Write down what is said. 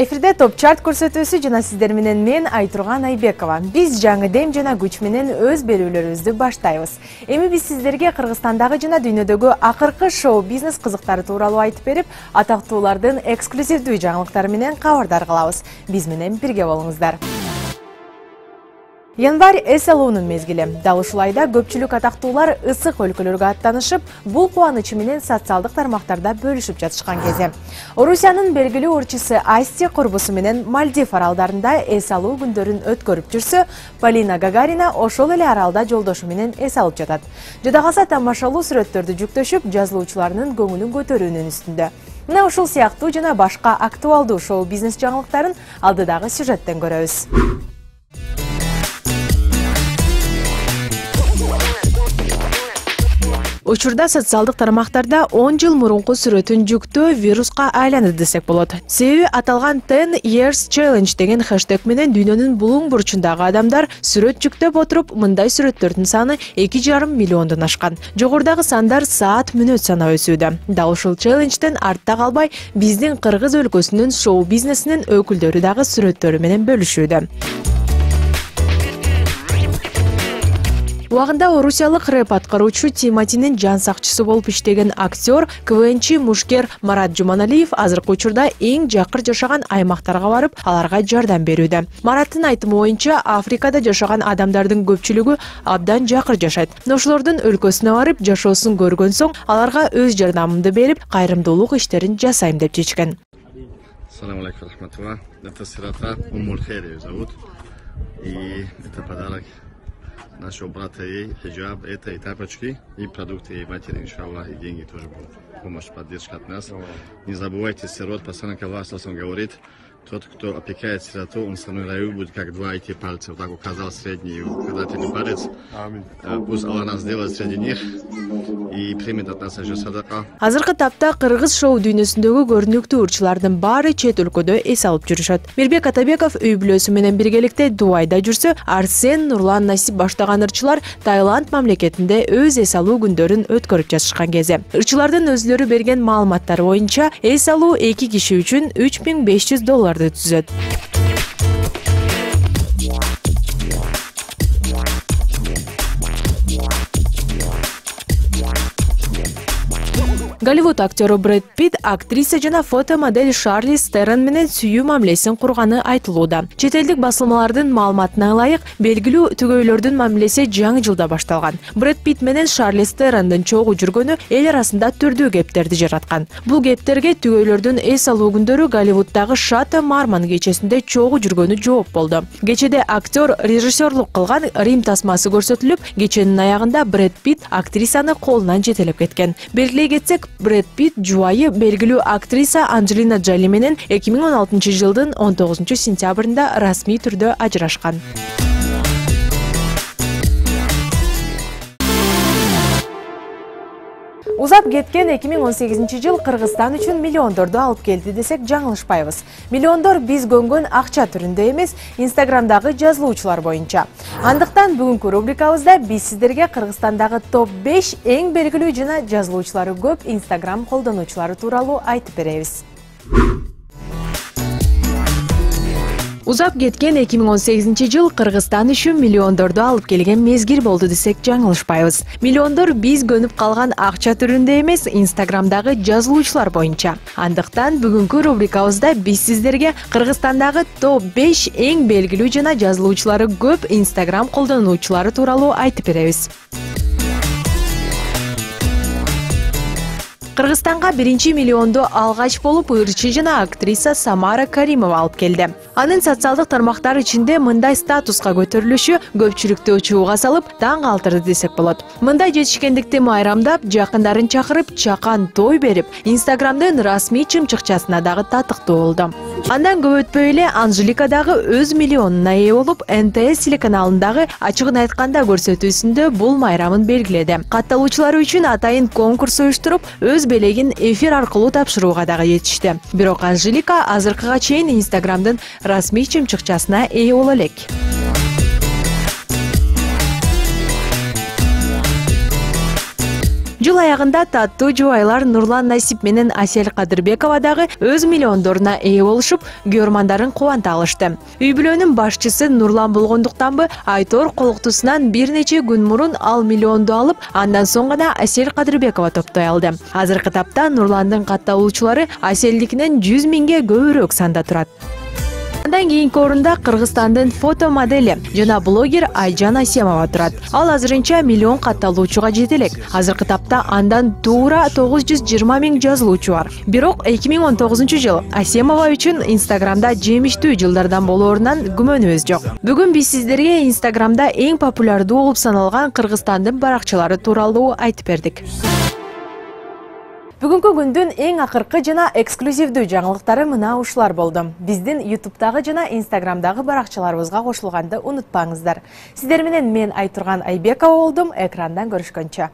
Эфирде топ чарт көрсөтүүсү жана сиздер менен мен Айтурган Айбекова. Биз жаңы дем жана күч менен өз берүүлөрүбүздү баштайбыз. Эми биз сиздерге Кыргызстандагы жана дүйнөдөгү акыркы шоу-бизнес кызыктары тууралуу айтып берип, атактуулардын эксклюзивдүү жаңылыктары менен кабардар кылабыз. Биз менен бирге болуңуздар. Январь эс алуунун мезгили. Дал ушулайда көпчүлүк атактуулар ысык өлкөлөргө аттанышып, бул кубанычы менен социалдык тармактарда бөлүшүп жатышкан кези. Орусиянын белгилүү ырчысы Асти курбусу менен Мальдив аралдарында эс алуу күндөрүн өткөрүп жүрсө, Полина Гагарина ошол эле аралда жолдошу менен эс алып жатат. Жада калса тамашалуу сүрөттөрдү жүктөшүп, жазылуучулардын көңүлүн көтөрүүнүн үстүндө. Мына ушул сыяктуу жана башка актуалдуу шоу-бизнес жаңылыктарын алдыдагы сюжеттен көрөбүз. Учурда социалдык тармактарда 10 жыл мурунку сүрөтүн жүктөө вируска айланды десек болот. Себеби аталган 10 Years Challenge деген хэштег менен дүйнөнүн булуң бурчундагы адамдар сүрөт жүктөп отуруп, мындай сүрөттөрдүн саны 2,5 миллиондон ашкан. Жогорудагы сандар саат-мүнөт санап өсүүдө. Дал ушул челленджден артта калбай, биздин Кыргыз өлкөсүнүн шоу-бизнесинин өкүлдөрү дагы сүрөттөрү менен бөлүшүүдө. Убагында орусиялык рэп аткаруучу Тиматинин жан сакчысы болуп иштеген актер, КВНчи мушкер Марат Жуманалиев азыркы учурда эң жакыр жашаган аймактарга барып, аларга жардам берүүдө. Мараттын айтымы боюнча, Африкада жашаган адамдардын көпчүлүгү абдан жакыр жашайт. Ошолордун өлкөсүнө барып, жашоосун көргөн соң, аларга өз жардамымды берип, кайрымдуулук иштерин жасайм деп чечкен. Ассаламу алейкум рахматуллах. Это сирота Уммулхейр её зовут. И это подарок нашего брата ей, хиджаб, это и тапочки, и продукты ей матери, иншаллах, и деньги тоже будут. Помощь, поддержка от нас. Не забывайте, сирот, посланник Аллаха говорит, тот, кто опекает сироту, он со мной раю будет как два эти пальца. Вот так указал средний и указательный палец. Пусть Аллах нас сделает среди них и примет от нас еще садака. Азыркы тапта Кыргыз шоу дүйнөсүндөгү көрүнүктүү ырчылардын баары чет өлкөдө эс алып жүрүшөт. Мирбек Атабеков үй бүлөсү менен биргеликте Дубайда жүрсө, Арсен, Нурлан, Насип баштаган ырчылар Таиланд мамлекетинде өз эс алуу күндөрүн өткөрүп жатышкан кези. Ырчылардын өзлөрү берген маалыматтар боюнча, эс алуу 2 киши үчүн $3500 түзөт. Голливуд актеру Брэд Питт актриса жана фотомодель Шарлиз Терон менен сүйүү мамилесин курганы айтылууда. Чет элдик басылмалардын маалыматына ылайык, белгилүү түгөйлөрдүн мамилеси жаңы жылда башталган. Брэд Питт менен Шарлиз Терондун чогуу жүргөнү эл арасында түрдүү кептерди жараткан. Бул кептерге түгөйлөрдүн эс алуу күндөрү Голливуддагы Шато Марман кечесинде чогуу жүргөнү жооп болду. Кечеде актер режиссерлук кылган Рим тасмасы көрсөтүлүп, кеченин аягында Брэд Питт актрисаны колунан жетелеп кеткен. Белгилей кетсек, Брэд Питт жубайы белгилүү актриса Анджелина Джоли менен 2016 жылдын 19 сентябрында расмий түрдө ажырашкан. Узап кеткен 2018 жыл Кыргызстан үчүн миллиондорду алып келди десек жаңылышпайбыз. Миллиондор биз көнгөн акча түрүндө эмес, Инстаграмдагы жазылуучулар боюнча. Андыктан бүгүнкү рубрикабызда биз сиздерге Кыргызстандагы топ 5 эң белгилүү жана жазылуучулары көп Инстаграм колдонуучулары тууралуу айтып беребиз. Узап кеткен 2018 жыл Кыргызстан үчүн миллиондорду алып келген мезгил болду десек жаңылышпайбыз. Миллиондор биз көнүп калган акча түрүндө эмес, Инстаграмдагы жазылуучулар боюнча. Андыктан бүгүнкү рубрикабызда биз сиздерге Кыргызстандагы топ 5 эң белгилүү жана жазылуучулары көп Инстаграм колдонуучулары тууралуу айтып беребиз. Кыргызстанга биринчи миллионду алгач болуп ырчы жана актриса Самара Каримова алып келди. Анын социалдык тармактар ичинде мындай статуска көтөрүлүшү көпчүлүктү чууга салып, таң калтырды десек болот. Мындай жетишкендикти майрамдап, жакындарын чакырып, чакан той берип, Инстаграмдын расмий чымчыкчасына дагы татыктуу болду. Андан көп өтпөй эле Анжелика дагы өз миллионуна ээ болуп, НТС телеканалындагы ачыгын айтканда көрсөтүүсүндө бул майрамын белгиледи. Катталуучулар үчүн атайын конкурс уюштуруп, өз белегин эфир аркылуу тапшырууга дагы жетишти. Бирок Анжелика азыркыга чейин Инстаграмдын расмий чымчыкчасына ээ боло элек. Жыл аягында таттуу жубайлар Нурлан Насип менен Асель Кадырбекова дагы өз миллиондоруна ээ болушуп, көрмандарын кубанта алышты. Үй бүлөнүн башчысы Нурлан болгондуктанбы, Айтор колуктусунан бир нече күн мурун ал миллионду алып, андан соң гана Асель Кадырбекова топтой алды. Азыркы тапта Нурландын катталуучулары Аселдикинен 100 миңге көбүрөөк санда турат. Андан кийинки орунда Кыргызстандын фото модели жана блогер Айжан Асемова турат. Ал азырынча миллион катталуучуга жете элек. Азыркы тапта андан туура 920 миң жазылуучу бар. Бирок 2019 жыл Асемова үчүн Инстаграмда жемиштүү жылдардан болоорунан күмөнүбүз жок. Бүгүн биз сиздерге Инстаграмда эң популярдуу болуп саналган Кыргызстандын баракчалары тууралуу айтып бердик. Бүгүнкү күндүн эң акыркы жана эксклюзивдүү жаңылыктары мына ушулар болду. Биздин YouTube'дагы жана Instagram'дагы баракчаларыбызга кошулганды унутпаңыздар. Сиздер менен мен Айтурган Айбекова болдум. Экрандан көрүшкөнчө.